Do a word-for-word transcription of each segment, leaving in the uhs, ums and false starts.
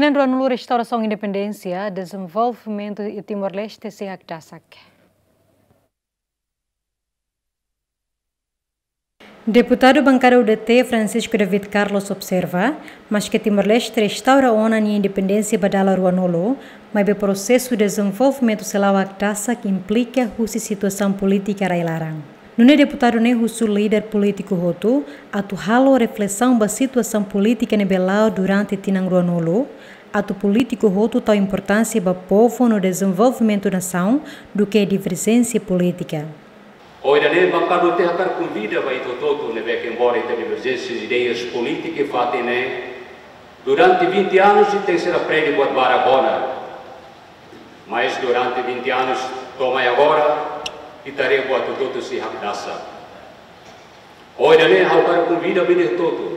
Tinan ruanulu restaurasaun independénsia, dezenvolvimentu iha Timor-Leste sei hakdasak. Deputadu bankada U D T, Francisco David Carlos, observa, maske Timor-Leste restaura ona nia independénsia ba dala ruanulu, maibé prosesu dezenvolvimentu sei la hakdasak implika husi situasaun polítika rai-laran. Nune'e deputadu ne'e husu líder polítiku hotu atu halo reflesaun ba situasaun polítika ne'ebé la'o durante tinan ruanulu, atu polítiku hotu tau importánsia ba povu no dezenvolvimentu nasaun duké diverjénsia polítika. Ohin ne'e bankada U D T hakarak konvida ba ita hotu ne'ebé ke embora ita diverjénsia ideias polítika iha fatin ne'e, durante vinte anos ita sei aprende buat barak ona. Mas durante vinte anos to'o mai agora, ita haree buat hotu-hotu sei hakdasak. Ohin ne'e ha'u hakarak konvida ba ita hotu.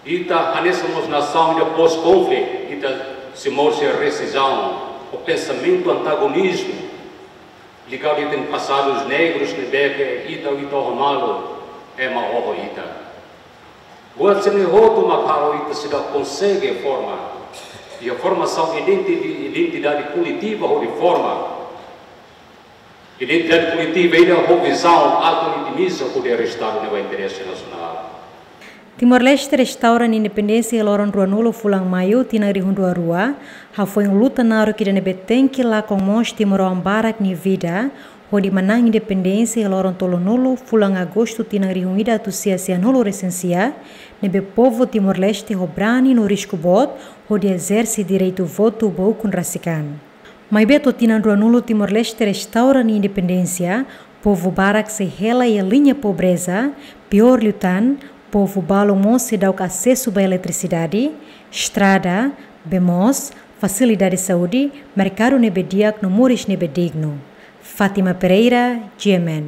Ita hanesan mós nasaun ida pós-konflitu, ita sei moris iha resizaun, ho pensamentu antagonizmu, ligadu ita-nia pasadus negrus ne'ebé ke ita, ita oho malu, ema oho ita. Buat sira-ne'e hotu mak halo ita seidauk konsege forma, iha formasaun identi-, identidade koletiva hodi forma identidade koletiva ida ho vizaun atu otimizadu hodi restaura nia interese nasionál. Timor-Leste restaura nia independénsia iha loron ruanulu fulan Maiu tinan rihun rua rua, hafoin luta naruk ida ne'ebé tenke lakon moos timoroan barak nia vida, hodi manán independénsia iha loron tolunulu fulan Agostu tinan rihun ida atus sia sianulu resin sia, ne'ebé povu Timor-Leste ho brani no risku boot hodi ezerse direitu votu ba ukun rasik an. Maibé to'o tinan ruanulu Timor-Leste restaura nia independénsia, povu barak sei hela iha liña pobreza, piór liután, povu balu mós seidauk asesu ba eletrisidade, estrada, bee moos, fasilidade saúde, merkadu ne'ebé di'ak no moris ne'ebé dignu. Fátima Pereira, G M N.